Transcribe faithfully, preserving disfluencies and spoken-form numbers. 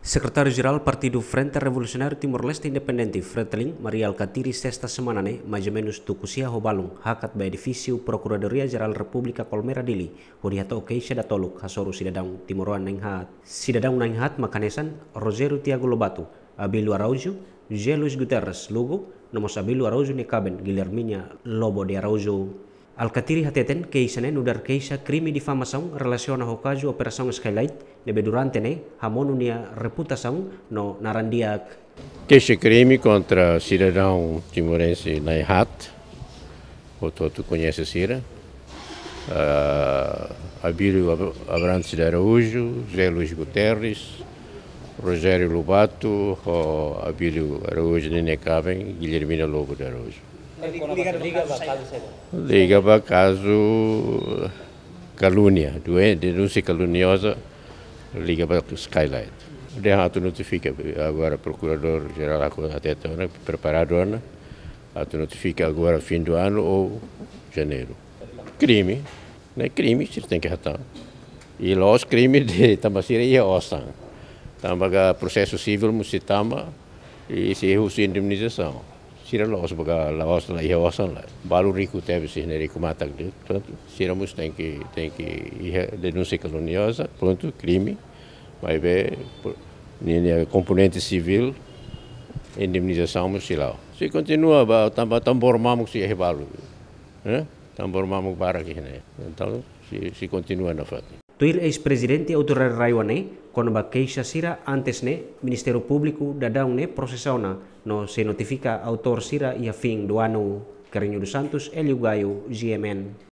Sekretáriu Jerál Partidu Frente Revolusionáriu Timor-Leste Independente, Fretilin, Mari Alkatiri, sesta semana ne'e, mais ou menus tuku sia ho balun, hakat ba edifísiu Prokuradoria Jerál Repúblika Kolmera Dili, hodi hato'o keixa datoluk hasoru sidadaun timoroan na'in haat. Sidadaun na'in haat mak hanesan Rogério Tiago Lobato, Abílio Araújo, José Luís Guterres Lugo, no mós Abílio Araújo nia kaben, Guilhermina Lobo de Araújo. Alkatiri hateten keixa ne'e nu'udar keixa krime difamasaun relasiona ho kazu Operasaun Skylight, ne'ebé durante ne'e hamonu nia reputasaun no naran di'ak. Keixa krime kontra sidadaun timorense na'in haat, hotu-hotu koñese sira. Ah, Abílio Ab-, Abrantes de Araújo, José Luís Guterres, Rogério Lobato, ho Abílio Araújo ninia kaben, Guilhermina Lobo de Araújo. Liga ba kazu kalúnia, duen-, denúnsia kalunioza, liga ba Skylight. Dehan atu notifika, agora Prokuradór Jerál hakarak hateten ona, preparadu ona, atu notifika agora fim do ano ou janeiru. Krime, ne'e krime, sira tenke hatán. I la'ós krime de'it, tanba sira iha osan. Tanba ka prosesu sivíl mós sei tama, i sei husu indemnizasaun. Sira la'ós ba ka, la'ós la iha osan lae. Balu riku tebes, sira ne'e riku matak de'it. Portantu, sira mós tenke, tenke iha denúnsia kalunioza, prontu, krime. Maibé, por, ninia komponente sivíl, indemnizasaun mós sei la'o. Sei kontinua ba, tanba tambór mamuk sei iha balu. Eh? Tambór mamuk barak iha ne'e. Entaun, sei, sei kontinua nafatin. Tuir eis-prezidente autoridade RAEOA ne'e, kona-ba keixa sira antes ne'e, Ministériu Públiku daudaun ne'e prosesa ona, no sei notifika autór sira iha fim do ano. Carrinho dos Santos, Hélio Gaio, G M N.